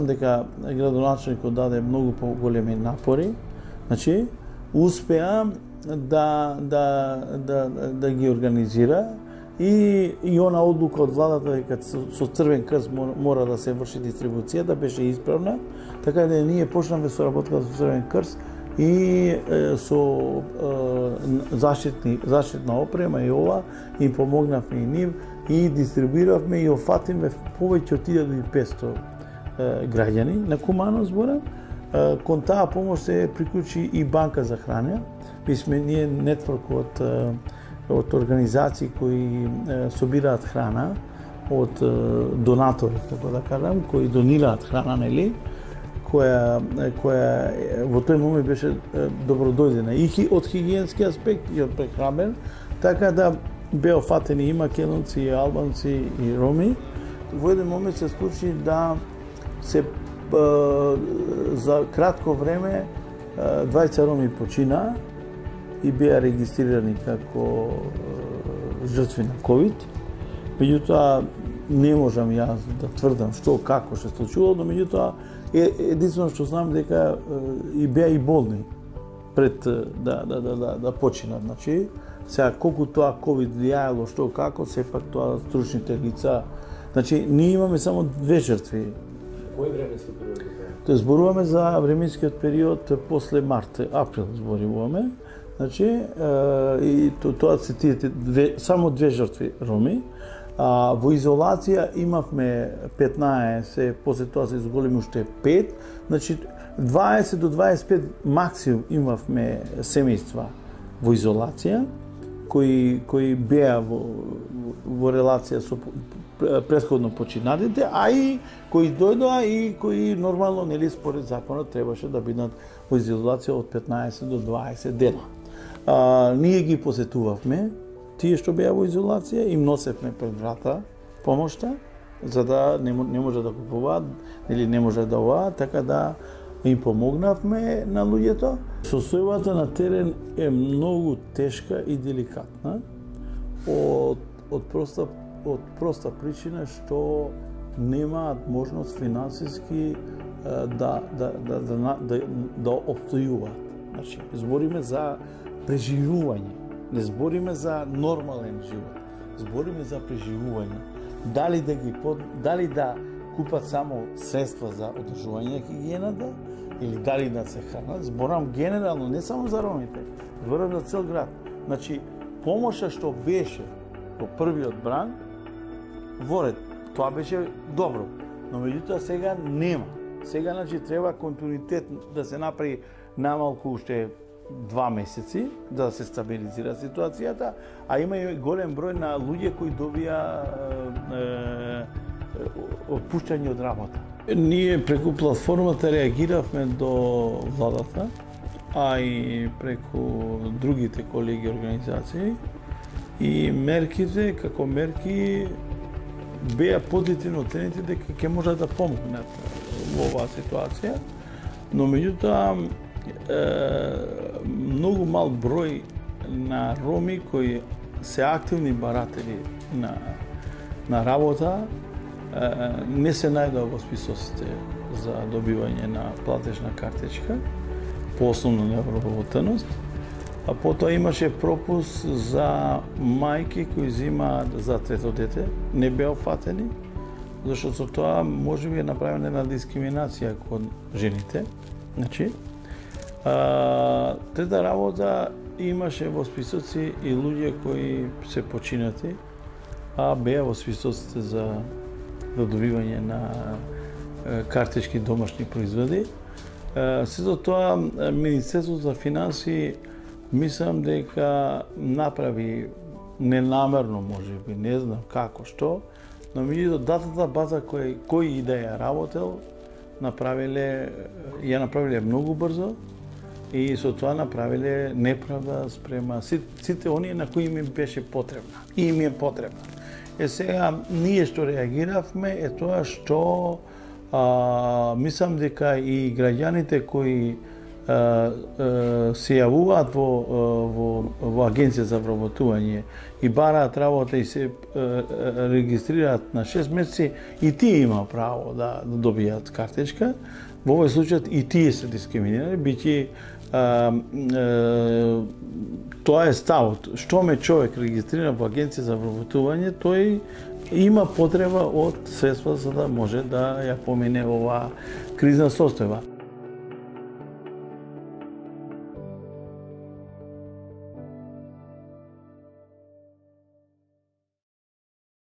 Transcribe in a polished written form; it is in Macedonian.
дека градоначелникот даде многу поголеми напори, значи успеа да ги организира и она одлука од владата дека со Црвен крст мора да се врши дистрибуцијата беше исправна, така да ние почнавме со работата со Црвен крст и со заштитна опрема и ова им помогнавме и нив и дистрибуиравме и офативме повеќе од 1500 граѓани на Кумано збора. Кон таа помош се приклучи и банка за храна. Ние нетворк од организации кои собираат храна од донатори, така да кажам, кои донираат храна, нели, која во тој момент беше добродојдена и од хигиенски аспект и од прехранбен, така да беа фатени и македонци, и албанци, и роми. Во еден момент се случи да се за кратко време 20 роми почина и беа регистрирани како жртви на ковид. Меѓутоа не можам јас да тврдам што како се случило, но меѓутоа единствено што знам дека и беа и болни пред да починат. Значи, сега колку тоа ковид влијаело што како, сепак тоа стручните лица. Значи, ние имаме само 2 жртви. Кој временски период е тоа? Тоа зборуваме за временскиот период после март, април зборуваме. Значи, и тоа се тие само 2 жртви роми. Во изолација имавме 15, после тоа се изголеми уште 5. Значи, 20 до 25 максимум имавме семејства во изолација, кои беа во релација со претходно починатите, а и кои дојдоа и кои нормално, нели, според законот требаше да бидат во изолација од 15 до 20 дена. Ние ги посетувавме, тие што беа во изолација, им носевме пред врата помошта, за да не може да купуваат, или не може да ова, така да им помогнавме на луѓето. Состојбата на терен е многу тешка и деликатна, од проста причина што немаат можност финансиски да опстојуваат. Значи, збориме за преживување, не збориме за нормален живот, збориме за преживување. Дали да купат само средства за одржување на хигиената, или дали да се хранат, зборам генерално, не само за ромите, зборам за цел град. Значи, помоша што беше во првиот бран, во ред, тоа беше добро, но меѓутоа сега нема. Сега, значи, треба континуитет да се направи намалку уште 2 месеци, да се стабилизира ситуацијата, а има и голем број на луѓе кои добија отпуштање од работа. Ние преку платформата реагиравме до владата, а и преку другите колеги организации, и мерките, како мерки, беа позитивно оценети дека ќе можат да помогнат во оваа ситуација, но меѓутоа многу мал број на роми кои се активни баратели на работа не се најдоа во списоците за добивање на платежна картичка по основна необработеност, а потоа имаше пропуск за мајки кои земаат за трето дете, не беа фатени, зашто со тоа можеби е направена една дискриминација кон жените. Значи, трета работа, имаше во списоци и луѓе кои се починати, а беа во списоците за добивање на картички домашни производи. Сето тоа, Министерството за финансии, мислам дека направи ненамерно, можеби, не знам како, што, но меѓутоа датата база кој и да ја работел, ја направиле многу брзо и со тоа направиле неправда спрема сите оние на кои им беше потребна. И им е потребна. Сега, ние што реагиравме е тоа што мислам дека и граѓаните кои се јавуваат во Агенција за вработување и бараат работа и се регистрираат на 6 месеци, и тие има право да добијат картичка. Во овој случај и тие се дискриминирани, биќе тоа е ставот. Што ме човек регистрира во Агенција за вработување, тој има потреба од средства за да може да ја помине оваа кризна состојба.